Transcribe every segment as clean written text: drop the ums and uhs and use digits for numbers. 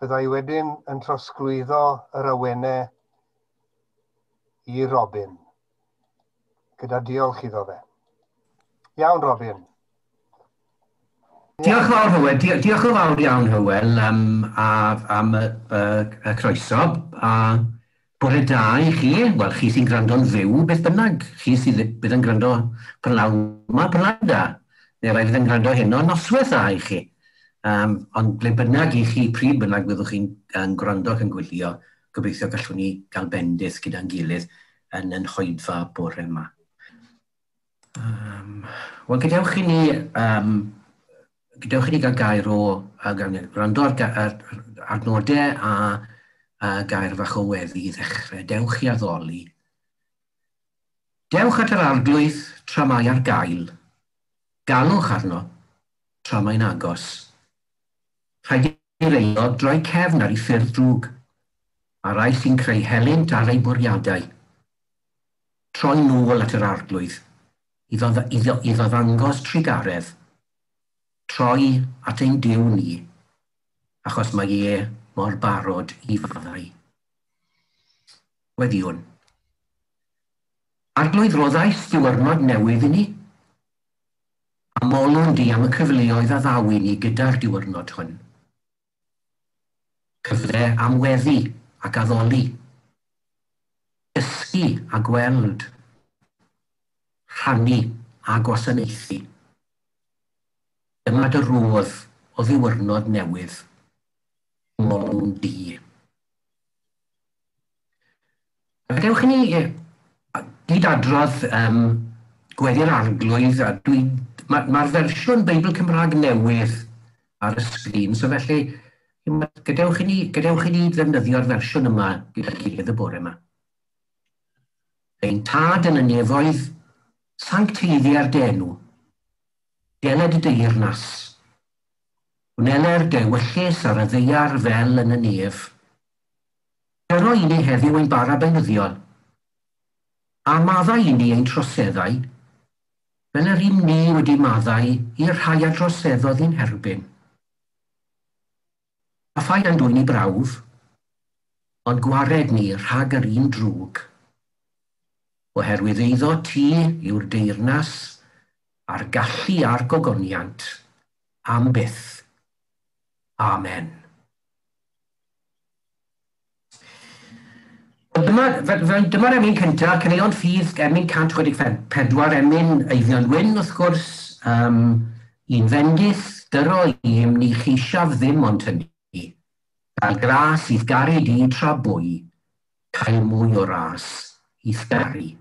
Byddai wedyn yn trosglwyddo yr awenau i Robin, gyda diolch iddo fe. Iawn, Robin. Diolch yn fawr, Hywel. Diolch yn fawr iawn, Hywel, am y croeso. A bore da i chi. Wel, chi sy'n gwrando'n fyw, beth bynnag. Chi sydd bydd yn gwrando prynhawn yma, prynhawn da. Neu rai fydd yn gwrando heno, noswaith dda i chi. Ond ble bynnag i chi, pryd bynnag byddwch chi'n gwrando ac yn gwylio, gobeithio gallwn ni gael bendith gyda'n gilydd yn yn hoedfa bore yma. Wel, gadewch i ni gael gair o gwrando ar adnodau a gair fach o weddi i ddechrau. Dewch i addoli. Dewch at yr Arglwydd tra mae ar gael. Galwch arno tra mae'n agos. Rhaid i'r aelod droi cefn ar ei ffyrdd drwg, a rai sy'n creu helynt ar ei bwriadau. Troi nôl at yr Arglwydd, iddo ddangos trugaredd. Troi at ein Duw ni, achos mae e mor barod i faddau. Weddiwn. Arglwydd, roddais diwrnod newydd i ni, a molwn di am y cyfleoedd a ddaw i ni gyda'r diwrnod hwn. Cyfle am weddi ac addoli, dysgu a gweld, rhannu a gwasanaethu. Dyma dy rodd o ddiwrnod newydd, molwn di. Gadewch i ni gyd adrodd gweddi'r Arglwydd, a mae'r fersiwn Beibl Cymraeg newydd ar y sgrin, so felly gadewch i ni ddefnyddio'r fersiwn yma gyda'r gilydd y bore yma. Ein tad yn y nefoedd, sancteiddia'r dy enw, deled y deyrnas, wneler dy ewyllys ar y ddaear fel yn y nef. Dyro i ni heddiw ein bara beunyddiol, a maddau i ni ein troseddau, fel yr un ni wedi maddau i'r rhai a droseddodd i'n herbyn. A phaid â'n dwyn i brawf, ond gwared ni rhag yr un drwg. Oherwydd eiddo ti yw'r deyrnas a'r gallu a'r gogoniant am byth. Amen. Dyma'r emyn cyntaf, caneuon ffydd, emyn 164, emyn Eifion Wyn, wrth gwrs, un fendith, dyro i'm ni cheisiaf ddim ond hynny. Cael gras i'th garu di tra bwy, cael mwy o ras i'th garu.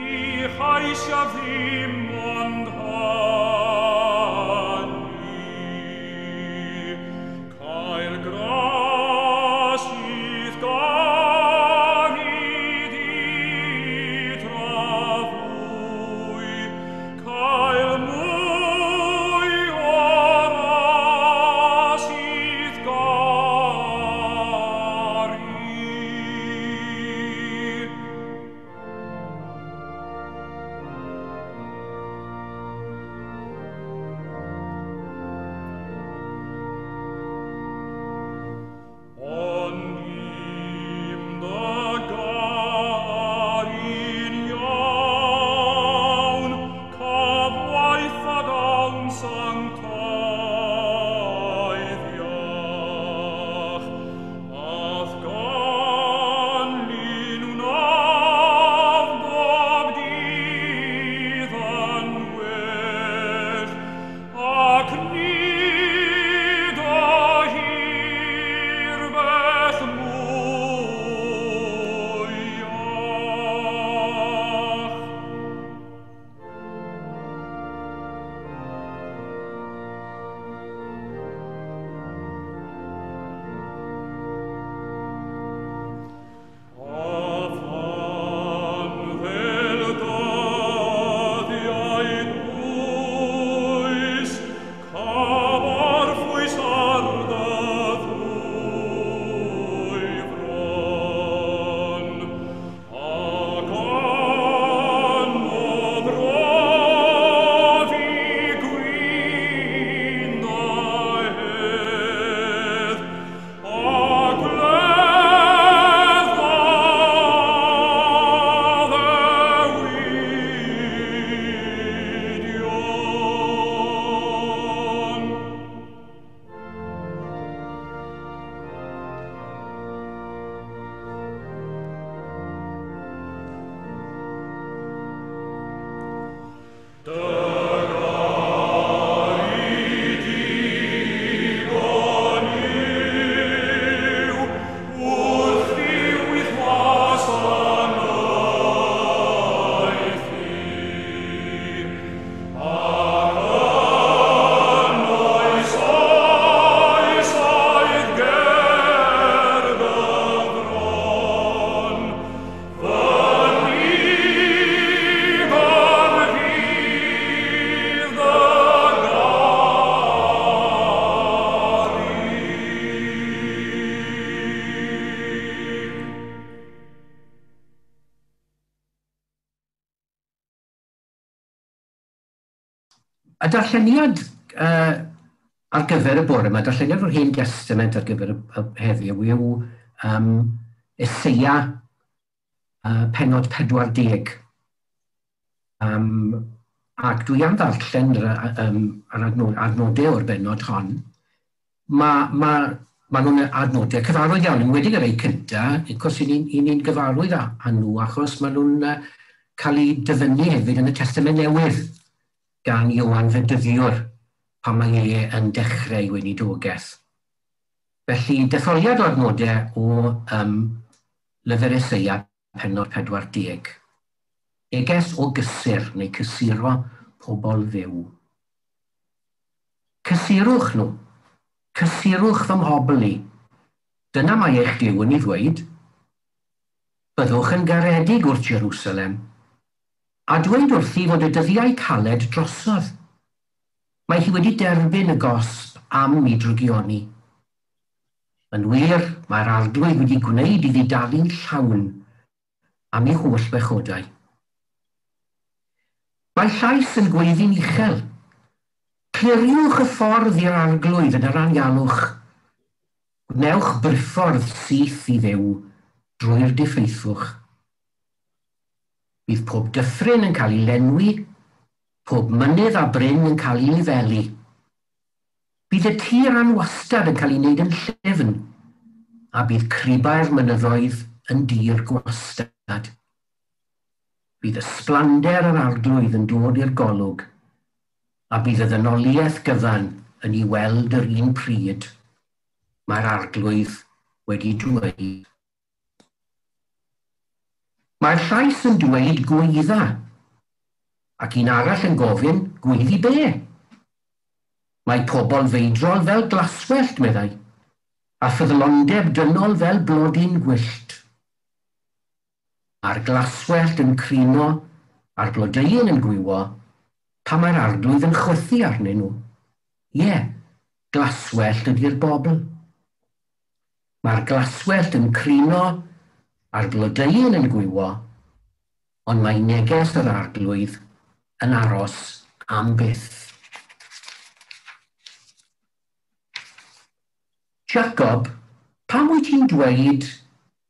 Ni Y darlleniad ar gyfer y bore yma, darlleniad o'r Hen Destament ar gyfer y heddiw yw Eseia pennod 40. Ac dwi am ddarllen yr adnodau o'r bennod hon. Ma nhw'n adnodau cyfarwydd iawn, yn enwedig y rhai cyntaf, wrth gwrs i ni'n gyfarwydd â nhw, achos maen nhw'n cael eu dyfynnu hefyd yn y Testament Newydd gan Ioan Fedyddiwr pan mae e yn dechrau ei weinidogaeth. Felly, detholiad o adnodau o lyfr Eseia, pennod 40. Neges o gysur neu cysuro pobl Dduw. Cysurwch nhw. Cysurwch fy mhobl i. Dyna mae eich Duw yn ei ddweud. Byddwch yn garedig wrth Jerusalem, a dweud wrthi fod y dyddiau caled drosodd. Mae hi wedi derbyn y gosb am ei drygioni. Yn wir, mae'r Arglwydd wedi gwneud iddi dalu'n llawn am ei holl bechodau. Mae llais yn gweiddi'n uchel. Cliriwch y ffordd i'r Arglwydd yn yr anialwch. Gwnewch briffordd syth i Dduw drwy'r diffeithwch. Bydd pob dyffryn yn cael ei lenwi, pob mynydd a bryn yn cael ei lefelu. Bydd y tir anwastad yn cael ei wneud yn llyfn, a bydd cribau'r mynyddoedd yn dir gwastad. Bydd ysblander yr Arglwydd yn dod i'r golwg, a bydd y ddynoliaeth gyfan yn ei weld yr un pryd. Mae'r Arglwydd wedi dweud. Mae'r llais yn dweud gweidda, ac un arall yn gofyn gweiddi be? Mae pobl feidrol fel glaswellt, meddai, a ffyddlondeb dynol fel blodyn gwyllt. A'r glaswellt yn crino, a'r blodeuyn yn gwywo, pa mae'r Arglwydd yn chwythu arnyn nhw. Ie, glaswellt ydy'r bobl. Mae'r glaswellt yn crino, a'r blodeuyn yn gwywo, ond mae neges yr Arglwydd yn aros am byth. Jacob, pam wyt ti'n dweud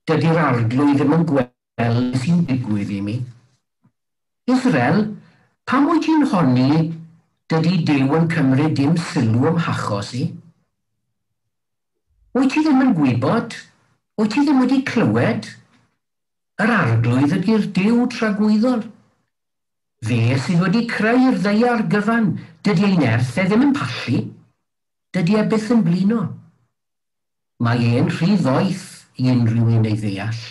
dydy'r Arglwydd ddim yn gweld sy'n digwydd i mi? Israel, pam wyt ti'n honni dydy Duw yn cymryd dim sylw ym hachos i? Wyt ti ddim yn gwybod? Wyt ti ddim wedi clywed? Yr Arglwydd ydy'r Duw tragwyddol. Fe sydd wedi creu'r ddaear gyfan, dydy ei nerth e ddim yn pallu, dydy e byth yn blino. Mae e'n rhy ddoeth i unrhyw un ei ddeall.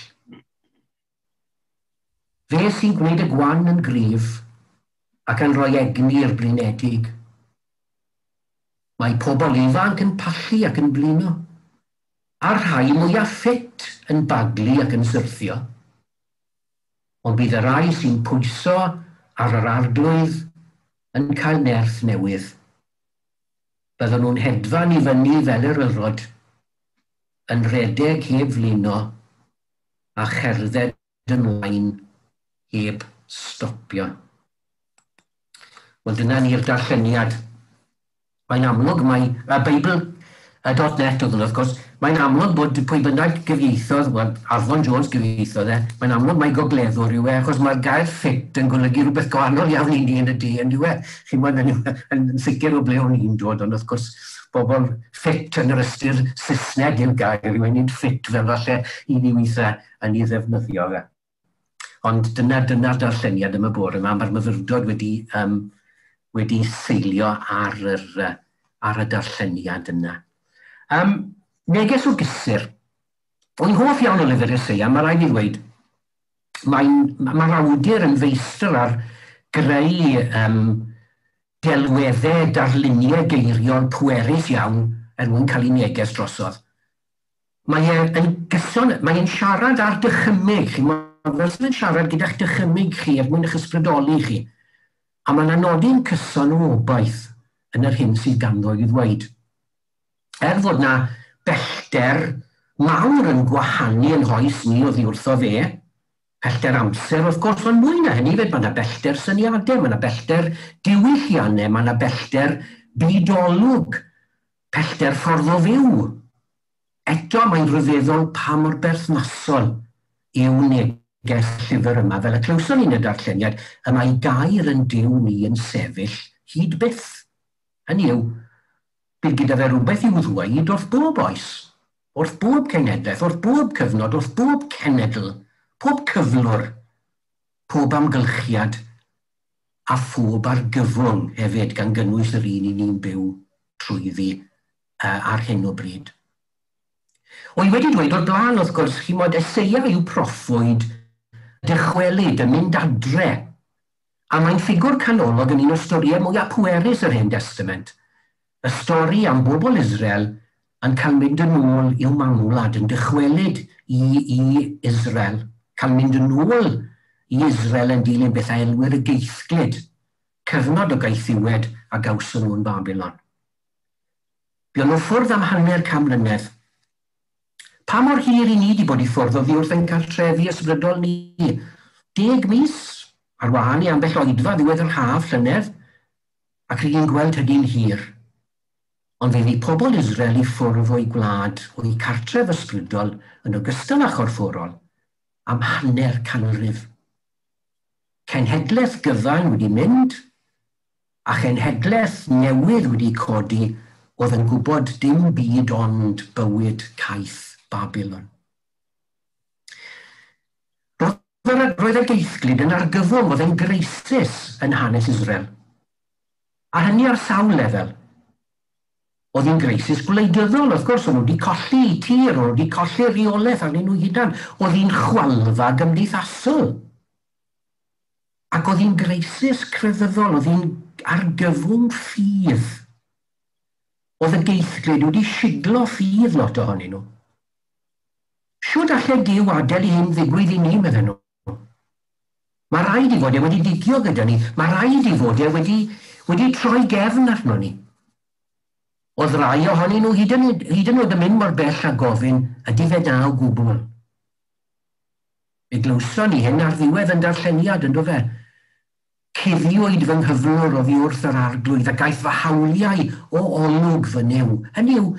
Fe sy'n gwneud y gwan yn gryf ac yn rhoi egni i'r blinedig. Mae pobl ifanc yn pallu ac yn blino, a'r rhai mwyaf ffit yn baglu ac yn syrthio. Ond bydd y rhai sy'n pwyso ar yr Arglwydd yn cael nerth newydd. Bydden nhw'n hedfan i fyny fel eryrod, yn rhedeg heb flino a cherdded ymlaen heb stopio. Wel, dyna ni'r darlleniad. Mae'n amlwg, mae y Beibl.net oedd hwnna, wrth gwrs, mae'n amlwg bod pwy bynnag gyfieithodd, wel, Arfon Jones gyfieithodd e, mae'n amlwg mai gogleddwr yw e, achos mae'r gair ffit yn golygu rhywbeth gwahanol iawn i ni yn y de, yn yw e. Chi'n gwybod, yn sicr o ble o'n i'n dod, ond wrth gwrs, bobl ffit yn yr ystyr Saesneg yw'r gair, yw e, nid ffit fel falle i ni weithiau yn ei ddefnyddio fe. Ond dyna'r darlleniad am y bore yma, mae'r myfyrdod wedi seilio ar y darlleniad yna. Neges o gysur. O'n hoff iawn o lyfr Eseia, mae rhaid i ddweud, mae'r awdur yn feistr ar greu delweddau, darluniau geiriol pwerus iawn er mwyn cael ei neges drosodd. Mae e'n gyson, mae e'n siarad ar dychymyg chi, fel sydd yn siarad gyda'ch dychymyg chi er mwyn eich ysbrydoli chi. A mae'n nodi'n cyson o obaith yn yr hyn sydd ganddo i ddweud. Er fod na bellter mawr yn gwahanu yn hoes ni oddi wrtho fe, Pellter amser, wrth gwrs, ond mwy na hynny, fyd, mae yna bellter syniadau, mae yna bellter diwylliannau, mae yna bellter bydolwg, pellter ffordd o fyw. Eto mae'n rhyfeddol pa mor berthnasol yw neges llyfr yma, fel y clywson ni'n y darlleniad, y mae gair yn Duw ni yn sefyll hyd byth. Hynny yw, bydd gyda fe rhywbeth i'w ddweud wrth bob oes, wrth bob cenhedlaeth, wrth bob cyfnod, wrth bob cenedl, pob cyflwr, pob amgylchiad, a phob argyfwng hefyd, gan gynnwys yr un i ni'n byw trwyddi ar hyn o bryd. O'n i wedi dweud o'r blaen, wrth gwrs, chi'mod, Eseia yw proffwyd dychwelyd, yn mynd adre. A mae'n ffigwr canolog yn un o storïau mwyaf pwerus yr Hen Testament. Y stori am bobl Israel yn cael mynd yn ôl i'w mamwlad, yn dychwelyd i Israel, cael mynd yn ôl i Israel yn dilyn beth a elwir y geithglyd, cyfnod o gaethiwed a gawson nhw yn Babylon. Buon nhw ffwrdd am 500 mlynedd. Pa mor hir i ni wedi bod i ffwrdd oddi wrth ein cartrefi ysbrydol ni? 10 mis, ar wahân i ambell oedfa ddiwedd yr haf llynedd, ac rydyn ni'n gweld hynny'n hir. Ond fe fu pobl Israel i ffwrdd o'i gwlad, o'i cartref ysbrydol, yn ogystal â chorfforol, am 500. Cenhedlaeth gyfan wedi mynd, a chenhedlaeth newydd wedi codi oedd yn gwybod dim byd ond bywyd caeth Babylon. Roedd y geithglyd yn argyfwng, oedd yn greisis yn hanes Israel. A hynny ar sawl lefel. Oedd hi'n greisis gwleidyddol, wrth gwrs, o'n nhw wedi colli tir, o'n nhw wedi colli rheolaeth arnyn nhw hunan. Oedd hi'n chwalfa gymdeithasol. Ac oedd hi'n greisis crefyddol, oedd hi'n argyfwng ffydd. Oedd y geithglyd wedi siglo ffydd lot ohonyn nhw. Shwd allai Duw adael i hyn ddigwydd i ni, medden nhw? Mae rhaid i fod e wedi digio gyda ni. Mae rhaid i fod e wedi troi gefn arno ni. Oedd rai ohonyn nhw hyd yn oed yn mynd mor bell a gofyn, ydy fe da o gwbl? Fe glywson ni hyn ar ddiwedd yn darlleniad, ynddo fe? Cuddiwyd fy nghyflwr oddi wrth yr arglwydd a gaeth fy hawliau o olwg fy Nuw. Hynny yw,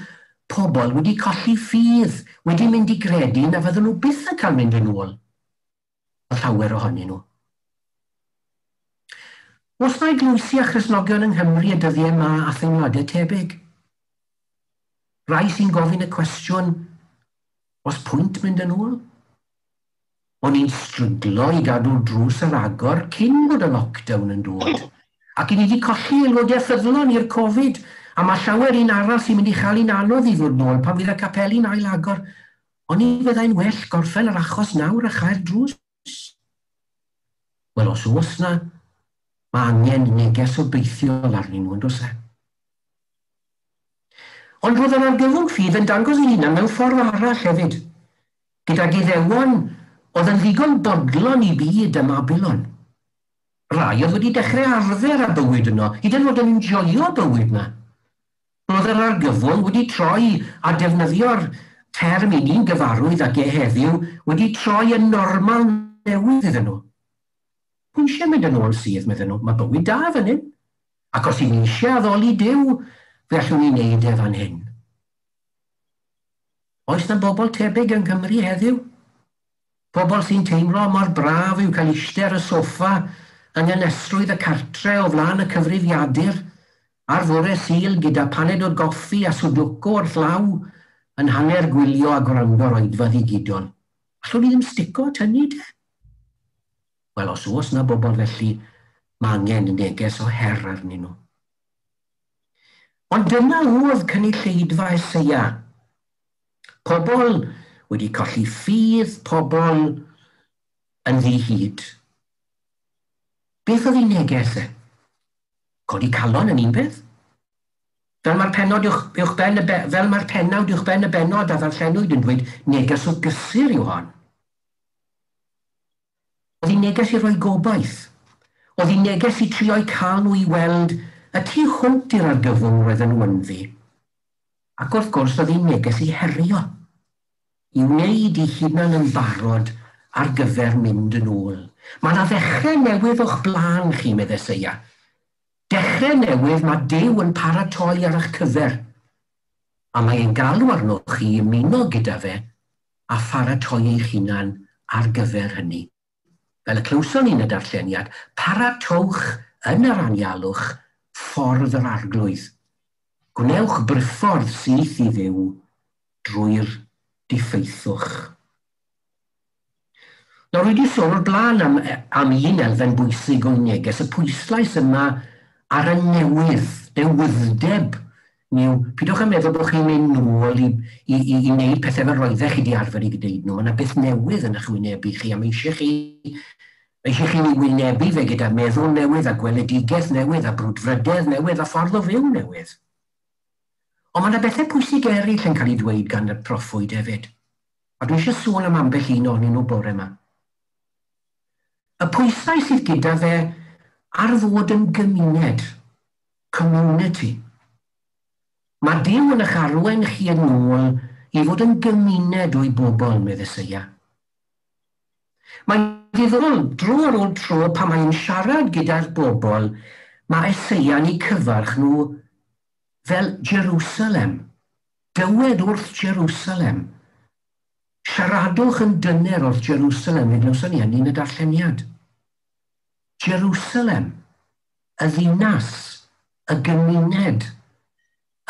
pobl wedi colli ffydd, wedi mynd i gredu na fydden nhw byth yn cael mynd yn ôl. Llawer ohonyn nhw. Oes na eglwysi a Christnogion yng Nghymru y dyddiau yma a theimladau tebyg? Rai sy'n gofyn y cwestiwn, oes pwynt mynd yn ôl? O'n i'n stryglo i gadw drws ar agor cyn bod y lockdown yn dod. Ac i ni wedi colli aelodau ffyddlon i'r Covid, a mae llawer un arall sy'n mynd i chael un anodd i ddod nôl pan fydd y capeli'n ail agor. O'n i fyddai'n well gorffen yr achos nawr a chau'r drws. Wel, os oes na, mae angen neges obeithiol arnyn nhw, yn does e? Ond roedd yr argyfwng ffydd yn dangos ei hunan mewn ffordd arall hefyd, gydag Iddewon oedd yn ddigon bodlon i byd ym Mabilon. Rai oedd wedi dechrau arfer â bywyd yno, hyd yn oed yn enjoio bywyd yna. Roedd yr argyfwng wedi troi a defnyddio'r term i ni'n gyfarwydd ag e heddiw wedi troi yn normal newydd iddyn nhw. Pwy eisiau mynd yn ôl sydd, medden nhw, mae bywyd da fan hyn. Ac os i ni eisiau addoli Duw, fe allwn ni wneud e fan hyn. Oes na bobl tebyg yng Nghymru heddiw? Pobl sy'n teimlo mor braf yw cael eistedd ar y soffa yng nghynesrwydd y cartre o flaen y cyfrifiadur ar fore Sul gyda paned o goffi a sudoku wrth law yn hanner gwylio a gwrando'r oedfa ddigidol. Allwn ni ddim stico at hynny de? Wel, os oes na bobl felly, mae angen neges o her arnyn nhw. Ond dyna oedd cynulleidfa Eseia. Pobl wedi colli ffydd, pobl yn ddi-hid. Beth oedd ei neges e? Codi calon yn un peth? Fel mae'r pennod uwchben y fel mae'r pennawd uwchben y bennod a ddarllenwyd yn dweud, neges o gysur yw hon. Oedd hi'n neges i roi gobaith. Oedd hi'n neges i trio'u cael nhw i weld y tu hwnt i'r argyfwng roedden nhw ynddi. Ac wrth gwrs oedd hi'n neges i herio, i wneud i hunan yn barod ar gyfer mynd yn ôl. Mae yna ddechrau newydd o'ch blaen chi, medd Eseia. Dechrau newydd mae Duw yn paratoi ar eich cyfer. A mae e'n galw arnoch chi ymuno gyda fe a pharatoi eich hunan ar gyfer hynny. Fel y clywson ni'n y darlleniad, paratowch yn yr anialwch ffordd yr Arglwydd. Gwnewch briffordd syth i Dduw drwy'r diffeithwch. Nawr, wedi sôn o'r blaen am un elfen bwysig o'i neges, y pwyslais yma ar y newydd, newyddeb. Niw, pidwch yn meddwl bod chi'n mynd nôl i wneud pethau fel roeddech chi wedi arfer i gwneud nhw. Mae yna beth newydd yn eich wynebu chi, a mae eisiau chi wynebu fe gyda meddwl newydd a gweledigaeth newydd a brwdfrydedd newydd a ffordd o fyw newydd. Ond mae yna bethau pwysig eraill yn cael ei ddweud gan y proffwyd hefyd. A dwi eisiau sôn am ambell un ohonyn nhw bore yma. Y pwysau sydd gyda fe ar fod yn gymuned, community. Mae Duw yn eich arwain chi yn ôl i fod yn gymuned o'i bobl, medd Eseia. Mae'n ddiddorol, dro ar ôl tro, pan mae'n siarad gyda'r bobl, mae Eseia'n eu cyfarch nhw fel Jerusalem. Dywed wrth Jerusalem. Siaradwch yn dyner wrth Jerusalem, fe glywson ni hynny yn y darlleniad. Jerusalem, y ddinas, y gymuned,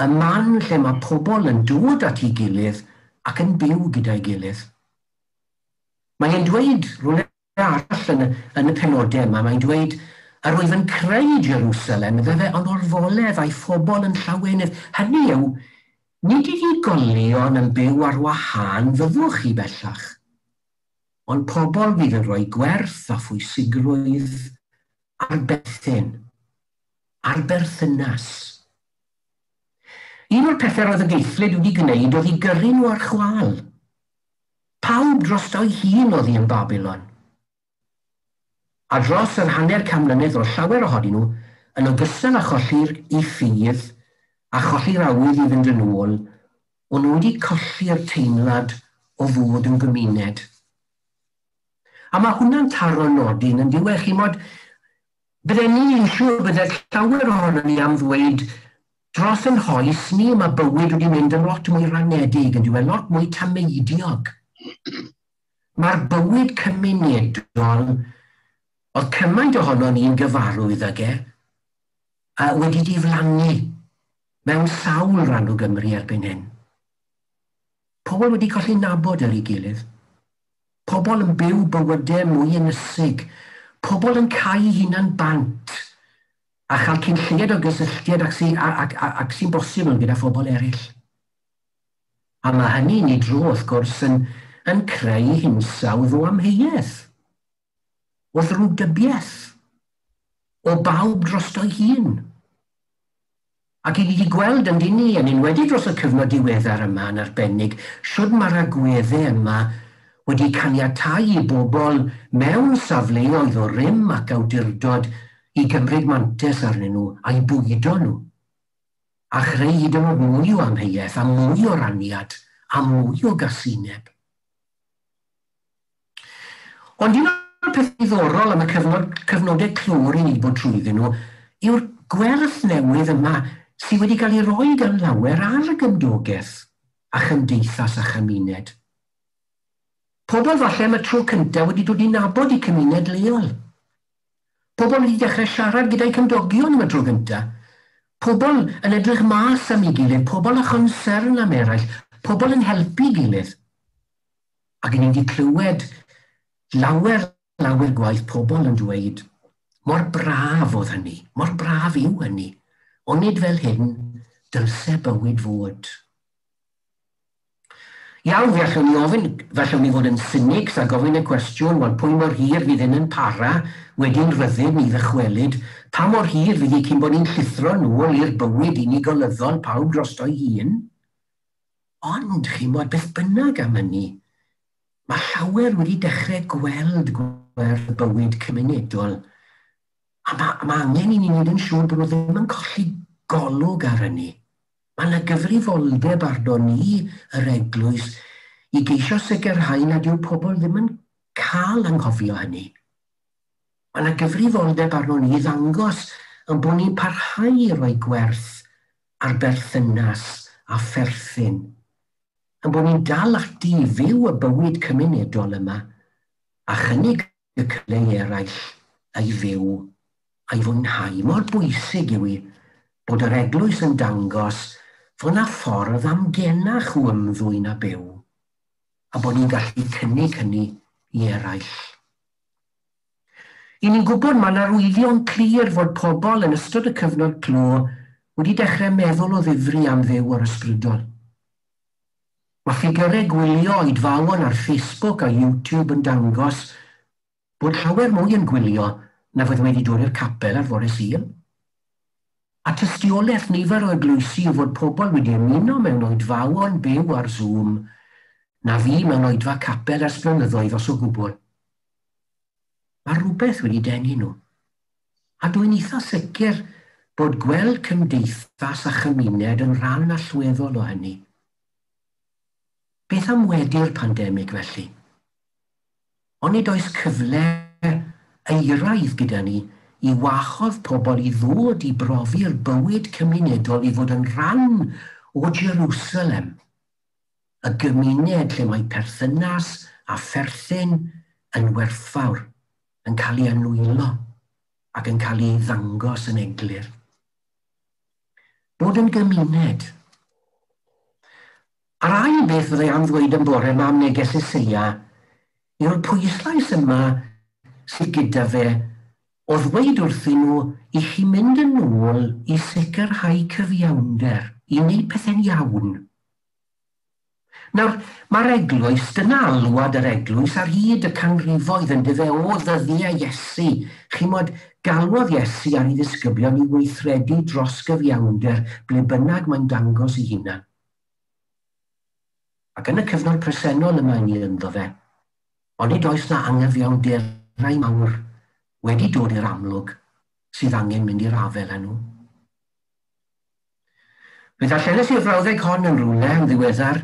y man lle mae pobl yn dod at ei gilydd ac yn byw gyda'i gilydd. Mae'n dweud, rhywle arall yn y penodau yma, mae'n dweud, yr wyf yn creu Jerusalem, iddo fe, ond orfoledd a'i phobl yn llawenydd. Hynny yw, nid unigolion yn byw ar wahân fyddwch chi bellach, ond pobl fydd yn rhoi gwerth a phwysigrwydd ar berthyn, ar berthynas. Un o'r pethau roedd y geithlid wedi gwneud oedd i gyrru nhw ar chwâl. Pawb drosto'i hun oedd hi yn Babylon. A dros yr 50 mlynedd o llawer ohonyn nhw, yn ogystal â cholli'r i ffydd a cholli'r awydd i fynd yn ôl, o'n nhw wedi colli'r teimlad o fod yn gymuned. A mae hwnna'n taro nodyn yn diwedd, chi'n mod, bydden ni'n siŵr bydde llawer ohonon ni am ddweud dros yn hoes ni mae bywyd wedi mynd yn lot mwy ranedig, yn diwedd, lot mwy tameidiog. Mae'r bywyd cymunedol, oedd cymaint ohono ni'n gyfarwydd ag e, a wedi diflannu mewn sawl rhan o Gymru erbyn hyn. Pobl wedi colli nabod ar ei gilydd. Pobl yn byw bywydau mwy ynysig. Pobl yn cau hunan bant a chael cyn lleied o gysylltiad ac sy'n bosibl gyda phobl eraill. A mae hynny yn ei dro, wrth gwrs, yn creu hinsawdd o amheuaeth, o ddrwgdybiaeth, o bawb drosto'i hun. Ac i ni wedi gweld yn dyn ni, yn enwedig dros y cyfnod diweddar yma yn arbennig, shwd mae'r agweddau yma wedi caniatáu i bobl mewn safleoedd o rym ac awdurdod i gymryd mantais arnyn nhw a'i bwydo nhw, a chreu hyd yn oed mwy o amheuaeth a mwy o raniad a mwy o gasineb. Ond un o'r peth diddorol am y cyfnodau clor i ni bod trwyddyn nhw yw'r gwerth newydd yma sydd wedi cael ei roi gan lawer ar y gymdogaeth a chymdeithas a chymuned. Pobl falle am y tro cyntaf wedi dod i nabod eu cymuned leol. Pobl wedi dechrau siarad gyda'i cymdogion am y tro gyntaf. Pobl yn edrych mas am ei gilydd, pobl â chonsern am eraill, pobl yn helpu gilydd. Ac ni wedi clywed lawer, lawer gwaith pobl yn dweud, mor braf oedd hynny, mor braf yw hynny, ond nid fel hyn dylse bywyd fod. Iawn, fe allwn ni ofyn, fe allwn ni fod yn cynics a gofyn y cwestiwn, wel, pwy mor hir fydd hyn yn para wedi'n rhyddid ni ddychwelyd, pa mor hir fydd hi cyn bod ni'n llithro nôl i'r bywyd unigolyddol pawb drosto'i hun? Ond, chi'n bod, beth bynnag am hynny, mae llawer wedi dechrau gweld gwerth bywyd cymunedol, a mae angen i ni wneud yn siŵr bod nhw ddim yn colli golwg ar hynny. Mae yna gyfrifoldeb arno ni, yr eglwys, i geisio sicrhau nad yw pobl ddim yn cael anghofio hynny. Mae yna gyfrifoldeb arno ni i ddangos yn bod ni'n parhau i roi gwerth ar berthynas a pherthyn. Yn bod ni'n dal ati i fyw y bywyd cymunedol yma a chynnig y cyfle i eraill a'i fyw a'i fwynhau. Mor bwysig yw i bod yr eglwys yn dangos fod yna ffordd amgenach o ymddwyn a byw a bod ni'n gallu cynnig hynny i eraill. I ni'n gwybod mae yna arwyddion clir fod pobl yn ystod y cyfnod clo wedi dechrau meddwl o ddifri am Dduw o'r ysbrydol. Mae ffigurau gwylio oedfaon ar Facebook a YouTube yn dangos bod llawer mwy yn gwylio na fydd wedi dod i'r capel ar fore Sul. A tystiolaeth nifer o eglwysi yw fod pobl wedi ymuno mewn oedfaon byw ar Zoom na fi mewn oedfa capel ers blynyddoedd os o gwbl. Mae rhywbeth wedi denu nhw. A dwi'n eitha sicr bod gweld cymdeithas a chymuned yn rhan allweddol o hynny. Beth am wedi'r pandemig felly? Onid oes cyfle euraidd gyda ni i wahodd pobl i ddod i brofi'r bywyd cymunedol i fod yn rhan o Jerusalem, y gymuned lle mae perthynas a pherthyn yn werthfawr, yn cael ei anwylo ac yn cael ei ddangos yn eglur. Bod yn gymuned. A'r ail beth fyddai am ddweud yn bore yma am neges Eseia yw'r pwyslais yma sydd gyda fe o ddweud wrthyn nhw i chi mynd yn ôl i sicrhau cyfiawnder, i wneud pethau'n iawn. Nawr, mae'r eglwys, dyna alwad yr eglwys ar hyd y canrifoedd yn dyfe o ddyddiau Iesu. Chimod, galwodd Iesu ar ei ddisgyblion i weithredu dros gyfiawnder ble bynnag mae'n dangos ei hunan. Ac yn y cyfnod presennol yma ni ynddo fe, onid oes na angyfiawnderau mawr wedi dod i'r amlwg sydd angen mynd i'r afael â nhw. Fe ddarllenes i'r frawddeg hon yn rhywle yn ddiweddar.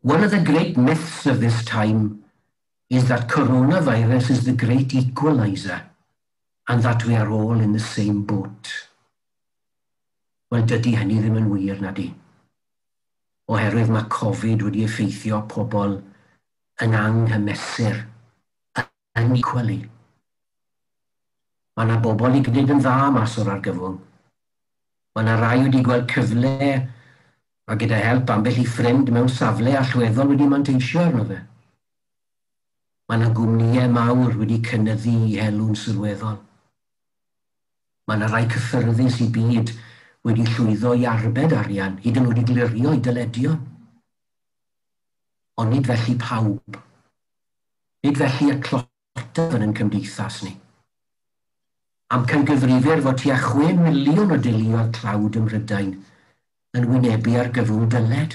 "One of the great myths of this time is that coronavirus is the great equalizer and that we are all in the same boat." Wel, dydy hynny ddim yn wir, na di. Oherwydd mae Covid wedi effeithio pobl yn anghymesur, unequally. Mae yna bobl i gwneud yn dda mas o'r argyfwng. Mae yna rai wedi gweld cyfle a gyda help ambell i ffrind mewn safle allweddol wedi manteisio arno fe. Mae yna gwmnïau mawr wedi cynyddu i helw'n sylweddol. Mae yna rai cyffyrddus i byd wedi llwyddo i arbed arian, hyd yn oed i glirio i dyledion. Ond nid felly pawb. Nid felly y tlotaf yn ein cymdeithas ni. Amcangyfrifir fod tua 6 miliwn o deuluoedd tlawd ym Mhrydain yn wynebu argyfwng dyled.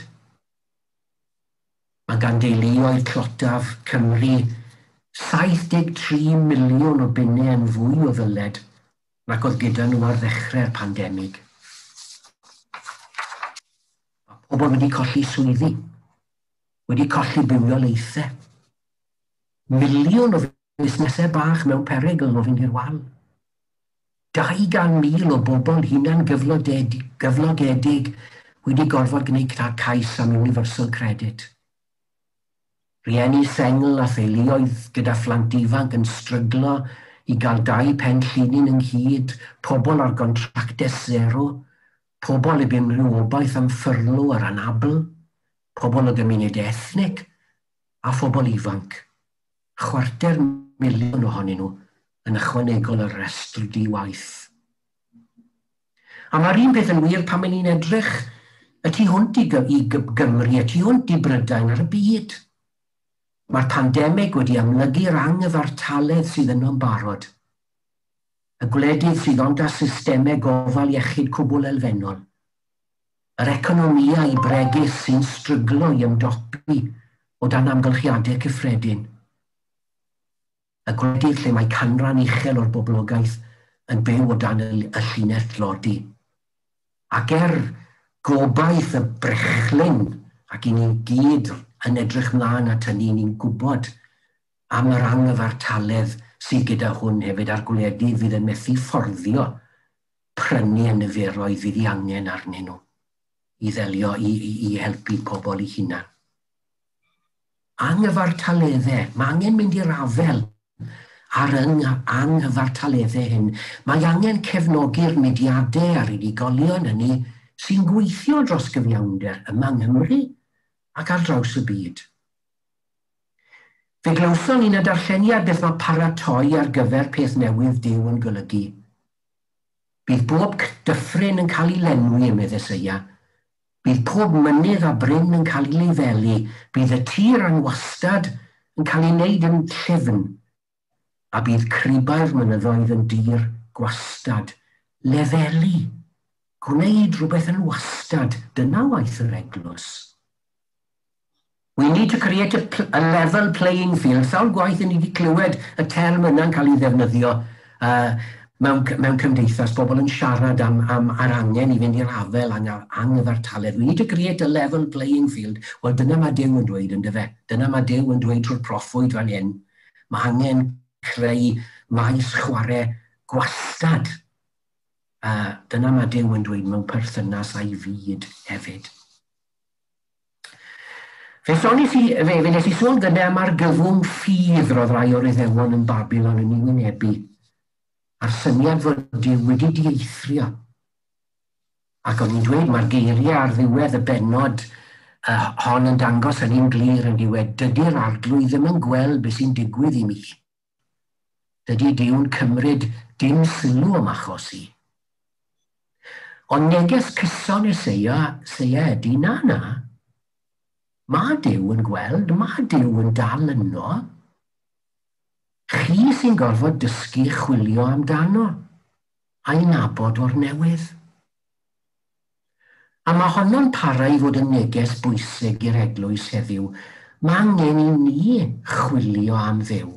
Mae gan deuluoedd tlotaf Cymru 73 miliwn o bunnau yn fwy o ddyled nac oedd gyda nhw ar ddechrau'r pandemig. Mae pobl wedi colli swyddi, wedi colli bywoliaethau. Miliwn o fusnesau bach mewn perygl o fynd i'r wal. 200,000 o bobl hunan gyflogedig wedi gorfod gwneud cais am Universal Credit. Rieni sengl a theuluoedd gyda phlant ifanc yn stryglo i gael dau pen llinyn ynghyd, pobl ar gontractau sero, pobl heb unrhyw obaith am ffyrlo ar anabl, pobl o gymuned ethnig a phobl ifanc. 250,000 ohonyn nhw yn ychwanegol ar restr di-waith. A mae'r un peth yn wir pan maen ni'n edrych y tu hwnt i Gymru, y tu hwnt i Brydain ar y byd. Mae'r pandemig wedi amlygu'r anghyfartaledd sydd yno'n barod. Y gwledydd sydd ond â systemau gofal iechyd cwbl elfennol. Yr economïau bregus sy'n stryglo i ymdopi o dan amgylchiadau cyffredin. Y gwledydd lle mae canran uchel o'r boblogaeth yn byw o dan y llinell tlodi. Ac er gobaith y brechlyn, ac i ni gyd yn edrych mlaen at hynny, ni'n gwybod Am yr anghyfartaledd sydd gyda hwn hefyd a'r gwledydd fydd yn methu fforddio prynu y niferoedd fydd ei angen arnyn nhw i ddelio, i helpu pobl i hunan. Anghyfartaleddau, mae angen mynd i'r afel ar anghyfartaleddau hyn. Mae angen cefnogi'r mudiadau a'r unigolion hynny sy'n gweithio dros gyfiawnder yma yng Nghymru ac ar draws y byd. Fe glywson ni'n y darlleniad beth mae paratoi ar gyfer peth newydd Duw yn golygu. Bydd bob dyffryn yn cael ei lenwi, medd Eseia. Bydd pob mynydd a bryn yn cael ei lefelu. Bydd y tir anwastad yn cael ei wneud yn llyfn. A bydd cribau'r mynyddoedd yn dir gwastad. Lefelu. Gwneud rhywbeth yn wastad. Dyna waith yr eglwys. We need to create a level playing field. Sawl gwaith ni wedi clywed y term yna'n cael ei ddefnyddio mewn cymdeithas, bobl yn siarad am yr angen i fynd i'r afel anghyfartaledd. We need to create a level playing field. Wel, dyna mae Duw yn dweud, yn dyfe. Dyna mae Duw yn dweud trwy'r proffwyd fan hyn. Mae angen creu maes chwarae gwastad. Dyna mae Duw yn dweud mewn perthynas â'i fyd hefyd. Fe sonis i, fe nes i sôn gyda am argyfwng ffydd roedd rai o'r Iddewon yn Babilon yn ei wynebu, a'r syniad fod Duw wedi dieithrio. Ac o'n i'n dweud, mae'r geiriau ar ddiwedd y bennod hon yn dangos hynny'n glir yn diwedd. Dydy'r Arglwydd ddim yn gweld beth sy'n digwydd i mi. Dydy Duw'n cymryd dim sylw am achos i. Ond neges cyson Eseia ydy na. Mae Duw yn gweld, mae Duw yn dal yno. Chi sy'n gorfod dysgu chwilio amdano, a'i nabod o'r newydd. A mae honno'n para i fod yn neges bwysig i'r eglwys heddiw. Mae angen i ni chwilio am Dduw.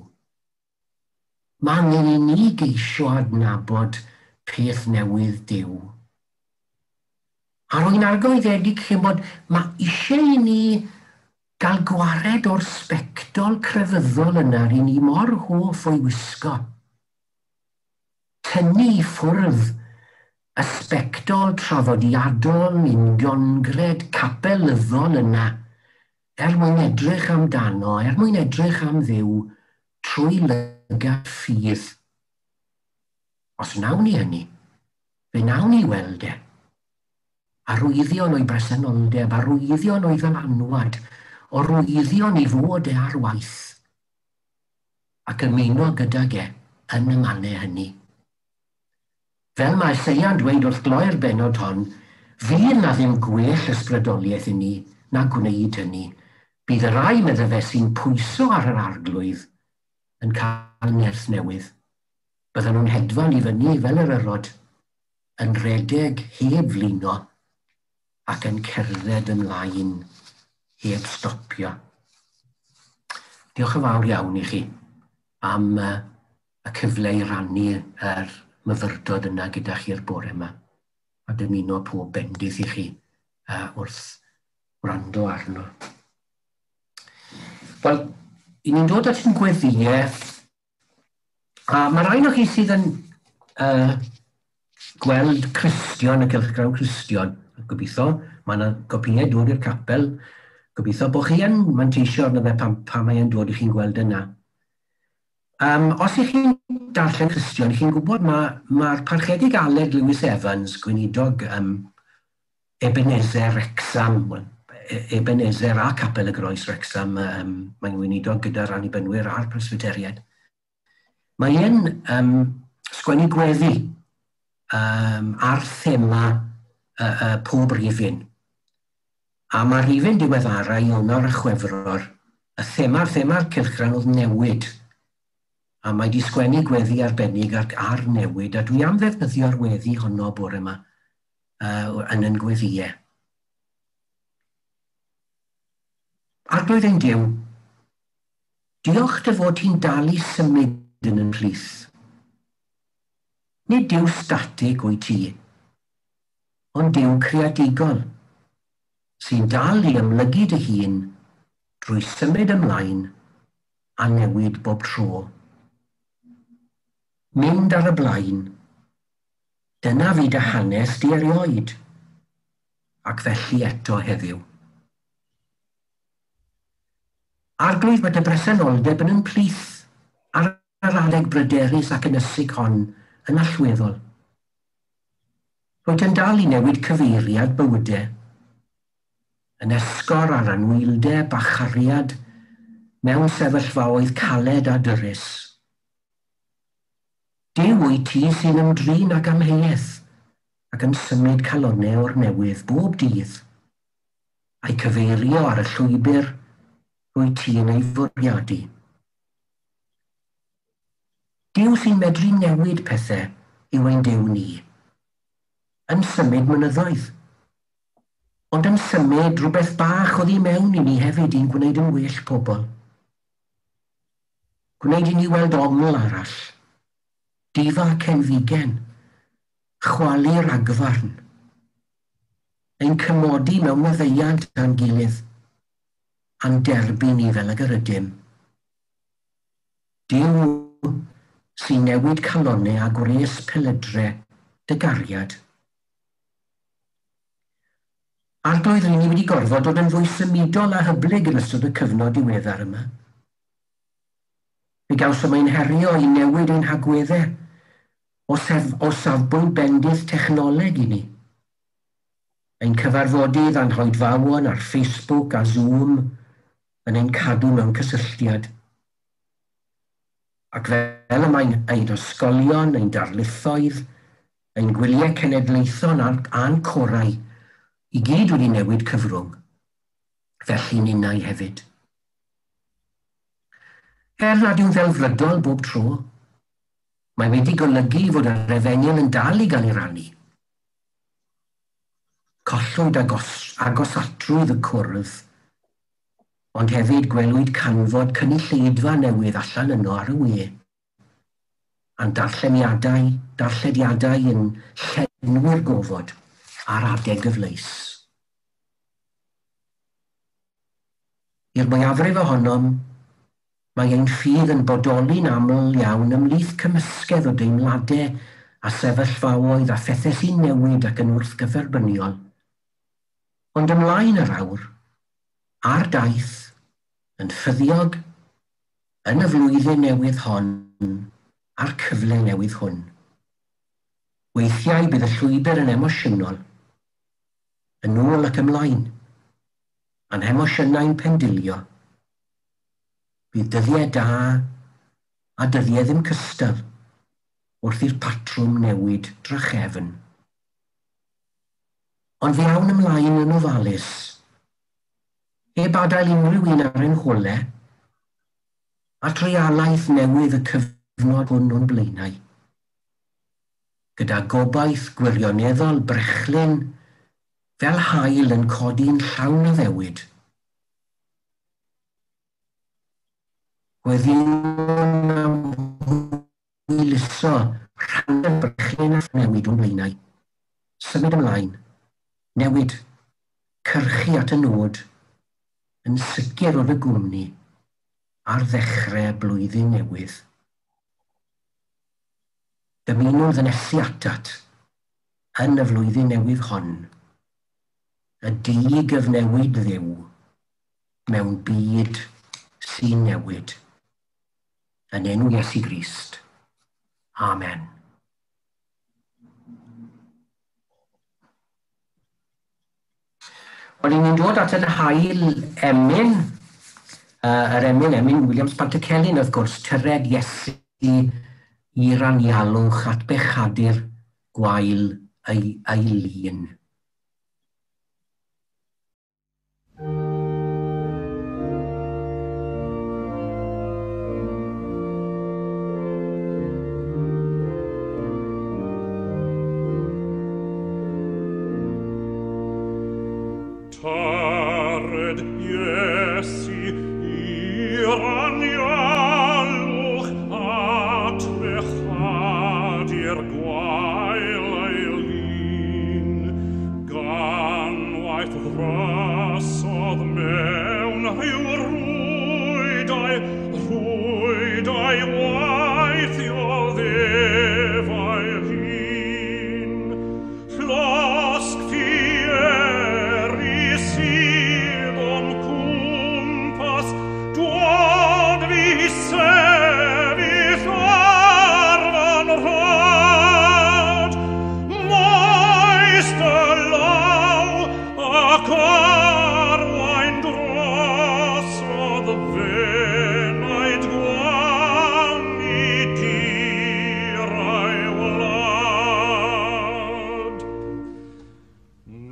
Mae angen i ni geisio adnabod peth newydd Duw. A rwy'n argoeddedig chi'n bod mae eisiau i ni gael gwared o'r sbectol crefyddol yna ry'n ni mor hoff o'i wisgo. Tynnu i ffwrdd y sbectol traddodiadol, uniongred, capelyddol yna, er mwyn edrych amdano, er mwyn edrych am Dduw, trwy lygad ffydd. Os wnawn ni hynny, fe wnawn ni weld e. Arwyddion o'i bresenoldeb, arwyddion o'i ddylanwad, arwyddion i fod e ar waith, ac ymuno gydag e yn y mannau hynny. Fel mae Eseia'n dweud wrth gloi'r bennod hon, fydd na ddim gwell ysbrydoliaeth i ni na gwneud hynny. Bydd y rai, medde fe, sy'n pwyso ar yr Arglwydd yn cael nerth newydd. Bydden nhw'n hedfan i fyny fel yr erod, yn rhedeg heb flino ac yn cerdded ymlaen heb stopio. Diolch yn fawr iawn i chi am y cyfle i rannu yr myfyrdod yna gyda chi'r bore yma. A dymuno pob bendith i chi wrth wrando arno. Wel, i ni'n dod at ein gweddïau, a mae rhai o chi sydd yn gweld Cristion, y cylchgrawn Cristion, gobeithio, mae yna gopïau dod i'r capel, gobeithio bod chi yn manteisio arno fe pan mae'n dod i chi'n gweld yna. Os ych chi'n darllen Cristion, chi'n gwybod mae'r parchedig Aled Lewis Evans, gweinidog Ebenezer Wrecsam, well, Ebenezer a Capel y Groes Wrecsam, mae'n weinidog gyda'r Annibynwyr a'r Presbyteriaid. Mae e'n sgwennu gweddi ar thema pob rifyn. A mae'r rifyn diweddara Ionawr a Chwefror, y thema'r cylchgrawn oedd newid. A mae di sgwennu gweddi arbennig ar newid, a dwi am ddefnyddio'r weddi honno bore yma yn yn gweddïau. Arglwydd ein Duw, diolch dy fod ti'n dal i symud yn yn plith. Nid Duw statig wyt ti, ond Duw creadigol, sy'n dal i ymlygu dy hun drwy symud ymlaen a newid bob tro. Mynd ar y blaen, dyna fi dy hanes di erioed, ac felly eto heddiw. Arglwydd, mae dy bresenoldeb yn ymplith ar yr adeg bryderus ac ynysig hon yn allweddol. Rwyt yn dal i newid cyfeiriad bywydau, yn esgor ar anwyldeb a chariad mewn sefyllfaoedd caled a dyrys. Duw wyt ti sy'n ymdrin ag amheuaeth ac yn symud calonnau o'r newydd bob dydd, a'i cyfeirio ar y llwybr rwyt ti yn ei fwriadu. Duw sy'n medru newid pethau yw ein Duw ni, yn symud mynyddoedd, ond yn symud rhywbeth bach oddi mewn i ni hefyd i'n gwneud yn well pobl. Gwneud i ni weld ongl arall, difa cenfigen, chwalu ragfarn, ein cymodi mewn maddeuant â'n gilydd, a'n derbyn ni fel ag yr ydym. Duw sy'n newid calonnau a gwres pelydre dy gariad. Arglwydd, ry'n ni wedi gorfod dod yn fwy symudol a hyblyg yn ystod y cyfnod diweddar yma. Mi gawsom ein herio i newid ein hagweddau o safbwynt bendith technoleg i ni. Ein cyfarfodydd a'n hoedfawon ar Facebook a Zoom yn ein cadw mewn cysylltiad. Ac fel y mae'n ein ysgolion, ein darlithoedd, ein gwyliau cenedlaethol a'n corau, i gyd wedi newid cyfrwng, felly ninnau hefyd. Er nad yw'n ddelfrydol bob tro, mae wedi golygu fod yr efengyl yn dal i gael ei rannu. Collwyd agosatrwydd y cwrdd, ond hefyd gwelwyd canfod cynulleidfa newydd allan yno ar y we. A'n darllediadau yn llenwi'r gofod ar adeg gyfleus. I'r mwyafrif ohonom, mae ein ffydd yn bodoli'n aml iawn ymhlith cymysgedd o deimladau a sefyllfaoedd a phethau sy'n newid ac yn wrthgyferbyniol. Ond ymlaen yr awr, ar daith, yn ffyddiog, yn y flwyddyn newydd hon, a'r cyfle newydd hwn. Weithiau bydd y llwybr yn emosiynol, yn ôl ac ymlaen, a'n hemosiynau'n pendilio. Bydd dyddiau da a dyddiau ddim cystal wrth i'r patrwm newid drachefn. Ond fe awn ymlaen yn ofalus, heb adael unrhyw un ar ein hole, at realaeth newydd y cyfnod hwn o'n blaenau. Gyda gobaith gwirioneddol brechlyn fel haul yn codi'n llawn addewid. Gweddïwn am hwyluso rhannu'r brechlyn a newid o'n blaenau. Symud ymlaen, newid, cyrchu at y nod, yn sicr o'r y gwmni ar ddechrau blwyddyn newydd. Dymunwn ddynesu atat yn y flwyddyn newydd hon, y di-gyfnewid Dduw mewn byd sy'n newid. Yn enw Iesu Grist. Amen. Wel, ni'n dod at yr hail emyn, yr emyn Williams Pantycelyn, wrth gwrs, tyred Iesu i'r anialwch at bechadur gwael ei lun. Tared Iesu i'r anialwch at bechadur gwael ei lun. Rhwydau waithiol ddefail hun. Llosg fieri sydd o'm cwmpas, dwad fi sefyll ar fan rhad. Maes dy law ac arwain drosodd fenaid gwan i dir a'i wlad.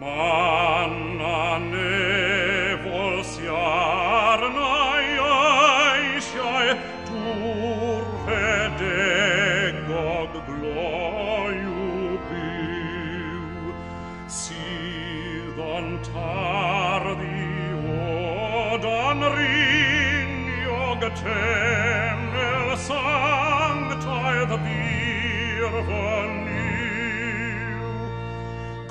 Man a nefol sy arna i eisiau, dŵr rhedegog gloyw byw, sydd yn tarddu o dan riniog temel sanctaidd bur fy Nuw.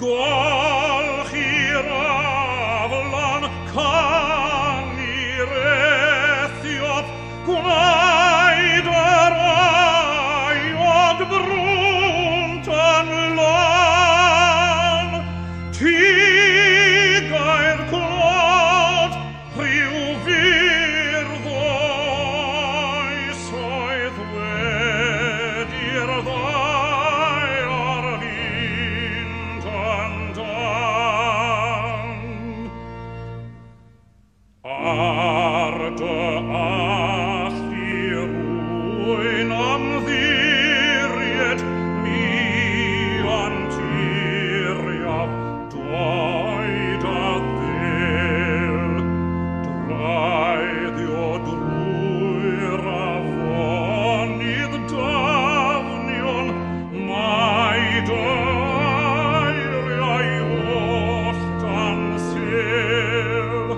Golchi'r aflan canu'r Ethiop, gwnaed yr aiod brwnt yn lan. Ti gair clod, rhyw fyrdd oesoedd wedi'r ddaear fynd yn dan. Ar dy allu rwy'n ymddiried, mi anturiaf doed a ddyl. Draeddio drwy'r afonydd dafnion, mae dy eiriau oll dan sêl.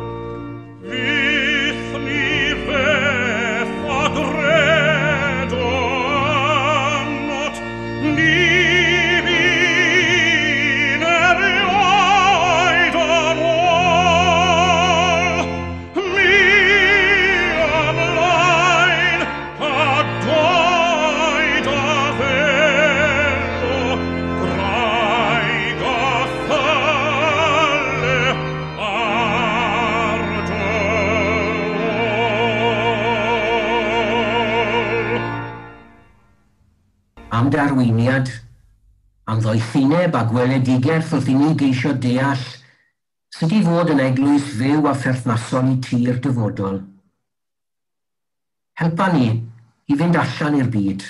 Fyth ni feth a gredo ynot, ni fu'n erioed yn ôl. Mi ymlaen a doed a ddelo, graig a thyle ar dy ôl. Am dy arweiniad, am ddoethineb a gweledigaeth wrth i ni geisio deall sut i fod yn eglwys fyw a pherthnasol i ti'r dyfodol. Helpa ni i fynd allan i'r byd,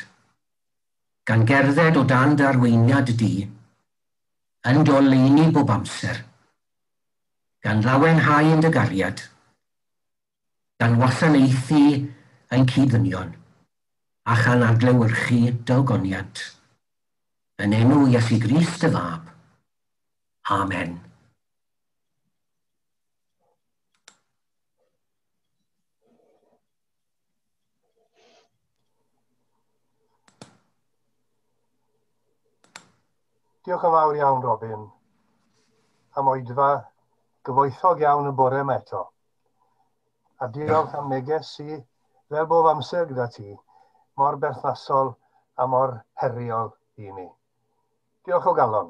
gan gerdded o dan dy arweiniad di, yn dy oleuni bob amser, gan lawenhau yn dy gariad, gan wasanaethu ein cyd-ddynion, a chan adlewyrchu dy ogoniant. Yn enw Iesu Grist y Fab. Amen. Diolch yn fawr iawn, Robin, am oedfa gyfoethog iawn y bore yma eto. A diolch am neges sy, fel bob amser gyda ti, mor berthnasol a mor heriol i ni. Diolch o galon.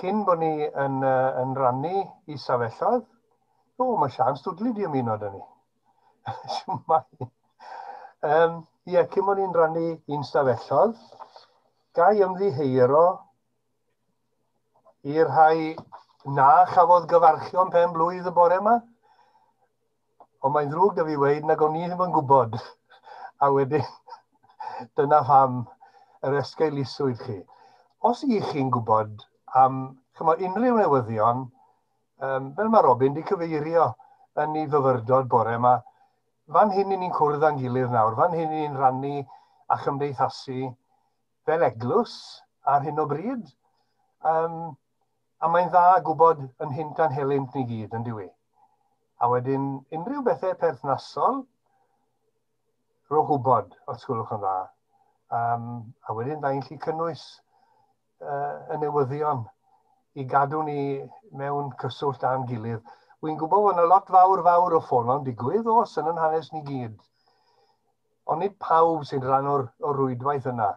Cyn bod ni yn rannu i stafelloedd, o, mae Sian Stwdli di ymuno â ni. Shwmae. Ie, cyn bod ni'n rannu i'n stafelloedd, ga i ymddiheuro i'r rhai na chafodd gyfarchion pen blwydd y bore yma. Ond mae'n ddrwg 'da fi weud nag o'n i ddim yn gwybod. A wedyn, dyna pham yr esgeuluswyd chi. Os ych chi'n gwybod am, chimod, unrhyw newyddion, fel mae Robin 'di cyfeirio yn ei fyfyrdod bore yma, fan hyn i ni'n cwrdd â'n gilydd nawr, fan hyn i ni'n rannu a chymdeithasu fel eglwys ar hyn o bryd. A mae'n dda gwybod yn hynt a'n helynt ni gyd, yn dyw i. A wedyn, unrhyw bethau perthnasol, rhowch wybod, os gwelwch yn dda. A wedyn, da ni'n gallu cynnwys y newyddion i gadw ni mewn cyswllt â'n gilydd. Wy'n gwybod bod yna lot fawr fawr o ffono'n digwydd, oes, yn yn hanes ni gyd. Ond nid pawb sy'n rhan o'r, or rwydwaith yna.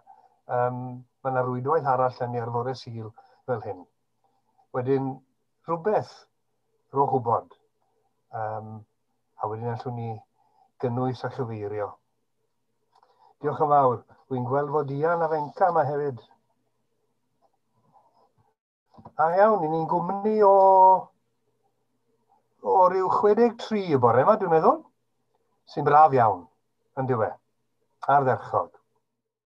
Mae yna rwydwaith arall yn ni ar fore Sul fel hyn. Wedyn, rhywbeth, rhowch wybod. A wedyn allwn ni gynnwys a chyfeirio. Diolch yn fawr. Wy'n gweld fod Ian a Fenca yma hefyd. A iawn, ni'n gwmni o ryw 63 y bore yma, dwi'n meddwl. Sy'n braf iawn, yn diwe. Ardderchog.